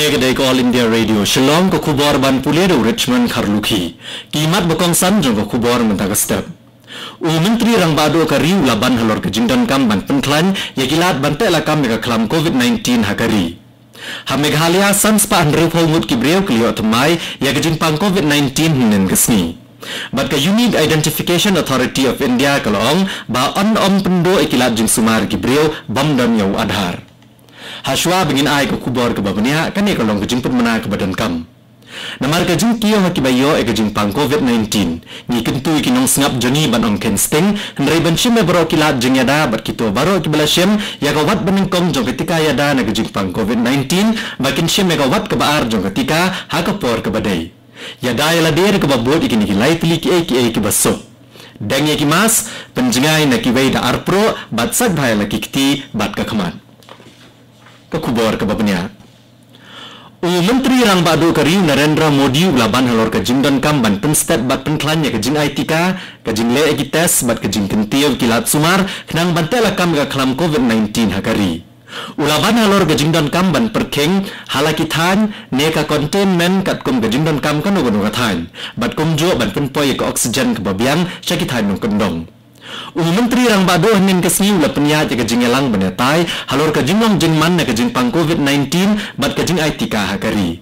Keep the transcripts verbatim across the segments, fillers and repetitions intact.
Ka dei ka All India Radio Shillong, ka khubor ban pule da u Richmond Kharlukhi. Ki mat ba kongsan jong ka khubor mynta ka step. U Myntri Rangbah Duh ka ri u la ban halor ka jingdonkam ban pynkhlaiñ ïa ki lad ban teh lakam ïa ka khlam covid nineteen ha ka ri. Ha Meghalaya, san spah hynriewphew ngut ki briew ki la ïoh thymmai ïa ka jingpang covid nineteen hynnin ka sngi. Bad ka Unique Identification Authority of India ka la ong ba yn ym pynduh ïa ki lad jingsumar ki briew bym don ïa u Aadhaar. Hashwa ba ngin ai ka khubor kaba bniah, kane ka long ka jingpynmana kaba donkam. Namar ka jingkiew ha kiba ïoh ïa ka jingpang covid nineteen, ngi kyntu ïa ki nongsngap jong ngi ban ym kheiñ sting, hynrei ban shim ïa baroh ki lad jingïada bad kito baroh kiba la shim ïa ka wat banyngkong jong ka tika ïada na ka jingpang covid nineteen, ba kin shim ïa ka wat kaba ar jong ka tika ha ka por kaba dei. Ïada ïa lade da kaba bud ïa kine ki lai tylli kiei kiei kiba suk. Deng ïa ki mask, pynjngai na kiwei da ar pruh, bad sait bha ïa la ki kti bad ka khmat. Ka khubor kaba bniah. U Myntri Rangbah Duh ka ri u Narendra Modi u la ban halor ka jingdonkam ban pynstet bad pynkhlaiñ ïa ka jingai tika, ka jingleh ïa ki test bad ka jingkyntiew ïa ki lad sumar khnang ban teh lakam ïa ka khlam covid nineteen ha ka ri. U la ban halor ka jingdonkam ban pyrkhing ha la ki thaiñ ne ka containment katkum ka jingdonkam kano kano ka thaiñ, bad kumjuh ban pynpoi ïa ka oxygen kaba biang sha ki thaiñ nongkyndong. U Myntri Rangbah Duh hynnin ka sngi u la pynïaid ïa ka jingïalang ban ïatai halor ka jinglong jingman na ka jingpang covid nineteen bad ka jingai tika ha ka ri.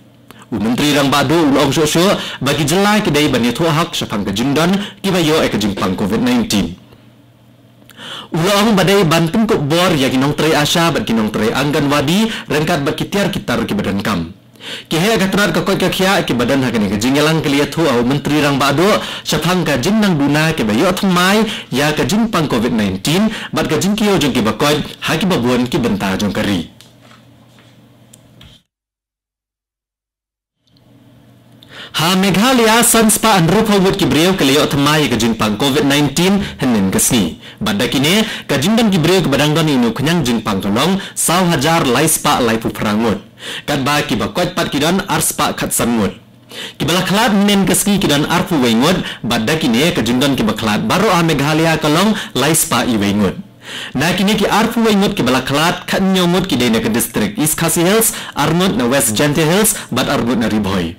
U Myntri Rangbah Duh u la ong shuh shuh ba ki jylla ki dei ban ïathuh hok shaphang ka jingdon kiba ïoh ïa ka jingpang covid nineteen. U la ong ba dei ban pynkup bor ïa ki nongtrei ASHA bad ki nongtrei Anganwadi ryngkat bad ki tiar ki tar kiba donkam. Ki heh ka tnat ka koit ka khiah kiba don ha kane ka jingïalang ki la ïathuh ha u Myntri Rangbah Duh shaphang ka jingnang duna kiba ïoh thymmai ïa ka jingpang covid nineteen bad ka jingkiew jong kiba koit ha kiba bun ki bynta jong ka ri. Ha Meghalaya, san spah hynriewphew ngut ki briew ki la ïoh thymmai ïa ka jingpang covid nineteen hynnin ka sngi. Bad da kine, ka jingdon ki briew kiba dang don ïa une u khñiang jingpang ka long saw hajar lai spah laiphew phra ngut. Katba kiba koit pat ki don ar spah khatsan ngut. Kiba la khlad hynnin ka sngi ki don arphew wei ngut, bad da kine ka jingdon kiba khlad baroh ha Meghalaya ka long lai spah iwei ngut. Na kine ki arphew wei ngut kiba la khlad, khathynñiew ngut ki dei na ka district East Khasi Hills, ar ngut na West Jaintia Hills, bad ar ngut na Ri Bhoi.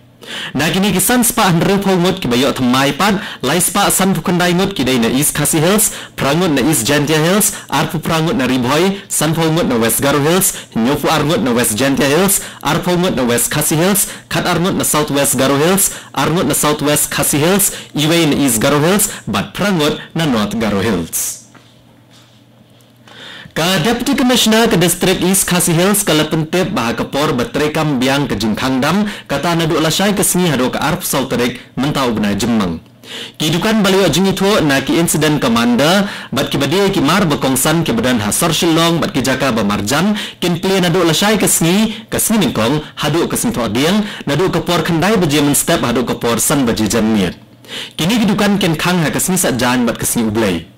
Na kine ki san spah hynriewphew ngut kiba ïoh thymmai pat, lai spah sanphew khyndai ngut ki dei na East Khasi Hills, phra ngut na East Jaintia Hills, arphew phra ngut na Ri Bhoi, sanphew ngut na West Garo Hills, hynñiewphew ar ngut na West Jaintia Hills, arphew ngut na West Khasi Hills, khatar ngut na South West Garo Hills, ar ngut na South West Khasi Hills, iwei na East Garo Hills, bad phra ngut na North Garo Hills. Ka Deputy Commissioner ka District East Khasi Hills ka la pyntip ba ha ka por ba treikam biang ka jingkhang dam, kata naduh lashai ka sngi haduh ka arphew saw tarik mynta u bnai Jymmang. Ki dukan ba la ïoh jingithuh na ki incident commander bad kiba die ki mar ba kongsan kiba don ha sor Shillong bad ki jaka ba marjan kin plie naduh lashai ka sngi, ka sngi nyngkong haduh ka sngi thohdieng, naduh ka por khyndai baje mynstep haduh ka por san baje janmiet. Kine ki dukan kin khang ha ka sngi Saitjaiñ bad ka sngi U Blei.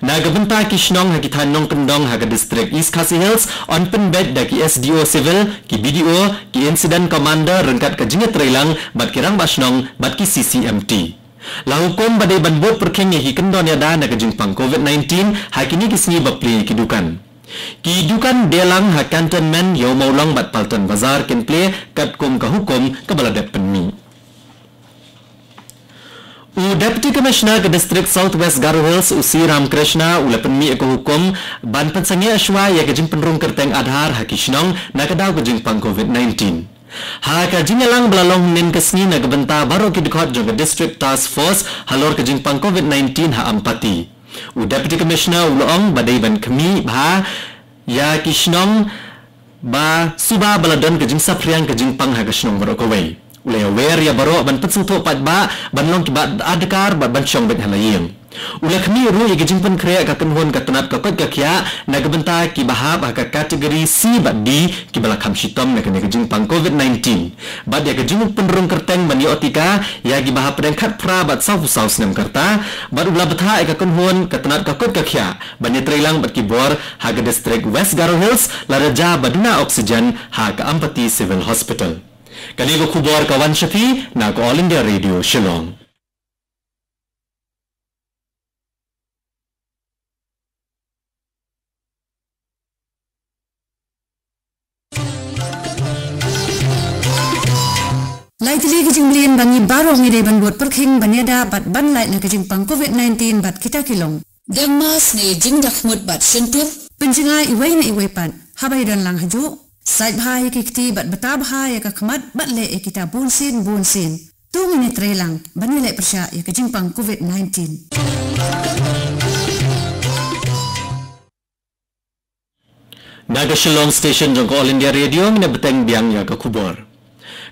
Na ka bynta ki shnong ha ki thaiñ nongkyndong ha ka district East Khasi Hills, yn pynbeit da ki S D O Civil, ki B D O, ki incident commander ryngkat ka jingïatreilang bad ki rangbah shnong bad ki C C M T. La hukum ba dei ban bud pyrkhing ïa ki kyndon ïada na ka jingpang covid nineteen ha kine ki sngi ba plie ki dukan. Ki dukan dielang ha Cantonment, Ïew Mawlong bad Paltan Bazar kin plie katkum ka hukum kaba la dep pynmih. U Deputy Commissioner ka District South West Garo Hills, u C Ramakrishna, u la pynmih ïa ka hukum ban pynsangeh shuwa ïa ka jingpynrung kyrteng Aadhaar ha ki shnong na ka daw ka jingpang covid nineteen. Ha ka jingïalang ba la long hynnin ka sngi na ka bynta baroh ki dkhot jong ka District Task Force halor ka jingpang covid nineteen ha Ampati, u Deputy Commissioner u la ong ba dei ban khmih bha ïa ki shnong ba suba ba la don ka jingsaphriang ka jingpang ha ka shnong baroh kawei. U la ïawer ïa baroh ban pynsngewthuh paidbah ban long kiba adkar bad ban shong beit ha la ïing. U la khmih ruh ïa ka jingpynkhreh ka kynhun ka tnat ka koit ka khiah na ka bynta kiba hap ha ka category C bad D kiba la kham shitom na kane ka jingpang covid nineteen. Bad ïa ka jingpynrung kyrteng ban ïoh tika ïa kiba hapdeng khatphra bad sawphew saw snem ka rta, bad u la bthah ïa ka kynhun ka tnat ka koit ka khiah ban ïatreilang bad ki bor ha ka district West Garo Hills lada jia ba duna oxygen ha ka Ampati Civil Hospital. Kane ka khubor ka wan sha phi na ka All India Radio Shillong. Lai tylli ki jingmlien ba ngi baroh ngi dei ban bud pyrkhing ban ïada bad ban lait na ka jingpang covid nineteen bad kita ki long: dem mask ne jingdakhmut bad shyntur, pynjngai iwei na iwei pat haba ïadon lang hajuh, sait bha ïa ki kti bad bata bha ïa ka khmat bad leh ïa kita bunsien bunsien. To ngin ïatrei lang ban ïaleh pyrshah ïa ka jingpang covid nineteen. Na ka Shillong Station jong ka All India Radio, ngin ïa bteng biang ïa ka khubor.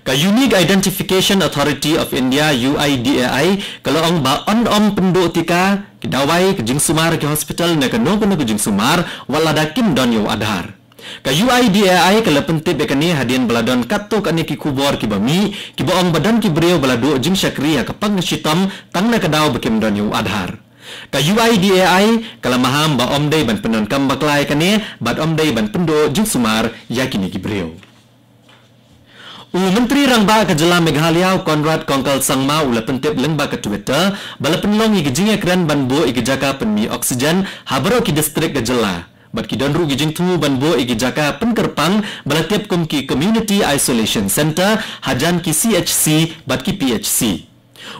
Ka Unique Identification Authority of India, U I D A I, ka la ong ba yn ym pynduh tika ki dawai ka jingsumar ki hospital na kano kano ka jingsumar wat lada kim don ïa u Aadhaar. Ka U I D A I ka la pyntip ïa kane hadien ba la don katto katne ki khubor kiba mih kiba ong ba don ki briew ba la duh jingshakri ha ka pang ka shitom tang na ka daw ba kim don ïa u Aadhaar. Ka U I D A I ka la maham ba ym dei ban pyndonkam bakla ïa kane bad ym dei ban pynduh jingsumar ïa kine ki briew. U Myntri Rangbah ka jylla Meghalaya, u Conrad Kongkal Sangma, u la pyntip lyngba ka Twitter ba la pynlong ïa ki jingïakren ban buh ïa ki jaka pynmih oxygen ha baroh ki distrik ka jylla bad ki don ruh ki jingthmu ban buh ïa ki jaka pynkyrpang ba la tip kum ki Community Isolation Centre hajan ki C H C bad ki P H C.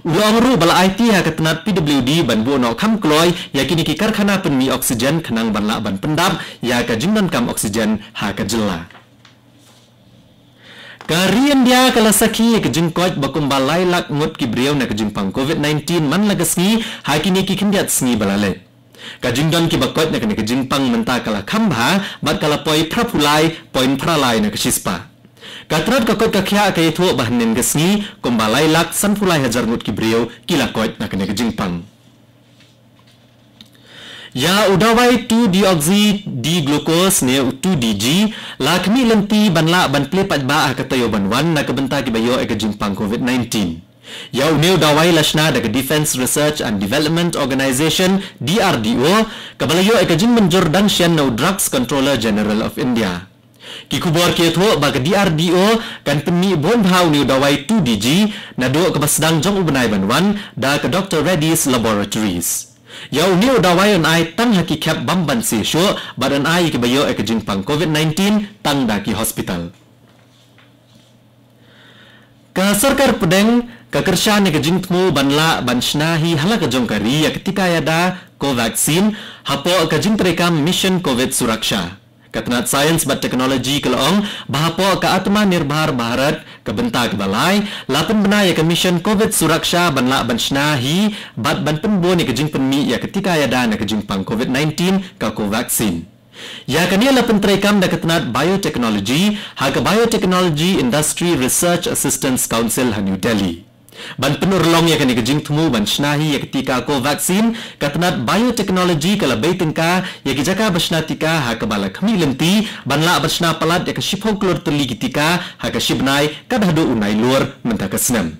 U la ong ruh ba la aiti ha ka tnat P W D ban buh noh kham kloi ïa kine ki karkhana pynmih oxygen khnang ban lah ban pyndap ïa ka jingdonkam oxygen ha ka jylla. Ka ri India ka la sakhi ïa ka jingkoit ba kumba lai lak ngut ki briew na ka jingpang covid nineteen man la ka sngi ha kine ki khyndiat sngi ba la leit. Ka jingdon kiba koit na kane ka jingpang mynta ka la kham bha bad ka la poi phra phew lai point phra lai na ka shispah. Ka tnat ka koit ka khiah ka ïathuh ba hynnin ka sngi kumba lai lak san phew lai hajar ngut ki briew ki la koit na kane ka jingpang. Ïa u dawai two deoxy D glucose ne u two D G la khmih lynti ban lah ban plie paidbah ha ka taïew ban wan na ka bynta kiba ïoh ïa ka jingpang covid nineteen. Ïa une u dawai la shna da ka Defence Research and Development Organisation, D R D O, kaba la ïoh ïa ka jingmynjur dang shen na u Drugs Controller General of India. Ki khubor ki ïathuh ba ka D R D O kan pynmih bun bha une u dawai two D G naduh kaba sdang jong u bnai ban wan da ka Doctor Reddy's Laboratories. Ïa une u dawai yn ai tang ha ki khep bym banse shuh bad yn ai ïa kiba ïoh ïa ka jingpang covid nineteen tang da ki hospital. Ka sorkar pdeng ka kyrshan ïa ka jingthmu ban lah ban shna hi ha la ka jong ka ri ïa ka tika ïada Covaxin hapoh ka jingtreikam Mission Covid Suraksha. Ka tnat Science bad Technology ka la ong ba hapoh ka Atmanirbhar Bharat ka bynta kaba lai la pynbna ïa ka Mission Covid Suraksha ban lah ban shna hi bad ban pynbun ïa ka jingpynmih ïa ka tika ïada na ka jingpang covid nineteen ka Covaxin. Ïa kane la pyntreikam da ka tnat Biotechnology ha ka Biotechnology Industry Research Assistance Council ha New Delhi. Ban pynurlong ïa kane ka jingthmu ban shna hi ïa ka tika Covaxin, ka tnat Biotechnology ka la bei tyngka ïa ki jaka ba shna tika ha kaba la khmih lynti ban lah ban shna palat ïa ka shiphew klur tylli ki tika ha ka shibnai kat haduh u Nailur mynta ka snem.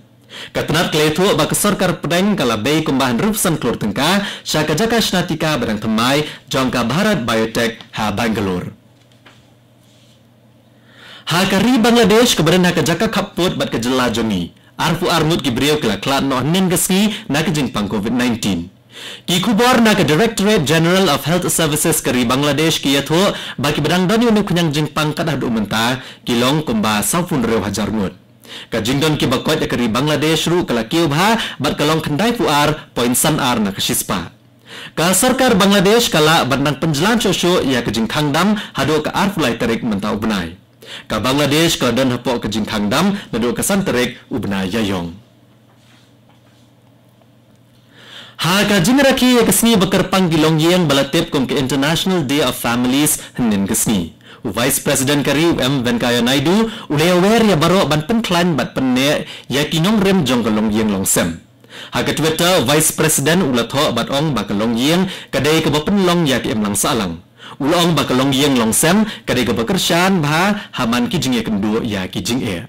Ka tnat ka la ïathuh ba ka sorkar pdeng ka la bei kumba hynriew phew san klur tyngka sha ka jaka shna tika ba dang thymmai jong ka Bharat Biotech ha Bangalore. Ha ka ri Bangladesh kaba don ha ka jaka khappud bad ka jylla jong ngi, arphew ar ngut ki briew ki la khlad noh hynnin ka sngi na ka jingpang covid nineteen. Ki khubor na ka Directorate General of Health Services ka ri Bangladesh ki ïathuh ba kiba dang don ïa une u khñiang jingpang kat haduh mynta ki long kumba sawphew hynriew hajar ngut. Ka jingdon kiba koit ha ka ri Bangladesh ruh ka la kiew bha bad ka long khyndai phew ar point san ar na ka shispah. Ka sorkar Bangladesh ka lah ban nang pynjlan shuh shuh ïa ka jingkhang dam haduh ka arphew lai tarik mynta u bnai. Ka Bangladesh ka la don hapoh ka jingkhang dam naduh ka san tarik u bnai Ïaïong. Ha ka jingrakhe ïa ka sngi ba kyrpang ki longïing ba la tip kum ka International Day of Families hynnin ka sngi, u Vice President ka ri u M Venkaiah Naidu u la ïawer ïa baroh ban pynkhlaiñ bad pynneh ïa ki nongrim jong ka longïing longsem. Ha ka Twitter, Vice President u la thoh bad ong ba ka longïing ka dei kaba pynlong ïa ka imlang sahlang. U la ong ba ka longïing longsem ka dei kaba kyrshan bha ha man ki jingïakynduh ïa ki jingeh.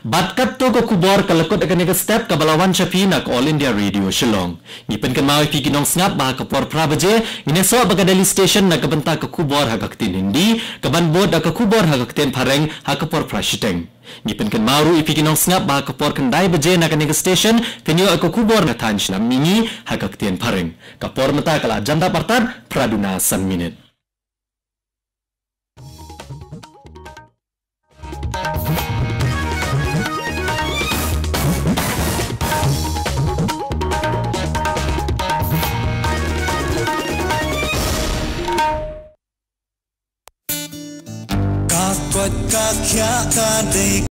Bad katto ka khubor ka la kut ha kane ka step kaba la wan sha phi na ka All India Radio Shillong. Ngi pynkynmaw ïa phi ki nongsngap ba ha ka por phra baje ngin ïasoh bad ka Delhi Station na ka bynta ka khubor ha ka ktien Hindi, kaban bud da ka khubor ha ka ktien Phareng ha ka por phra shiteng. Ngi pynkynmaw ruh ïa phi ki nongsngap ba ha ka por khyndai baje na kane ka station phin ïoh ïa ka khubor na thaiñ shnong mihngi ha ka ktien Phareng. Ka por mynta ka la jan dap artat phra duna san minit. Ka khia ka dei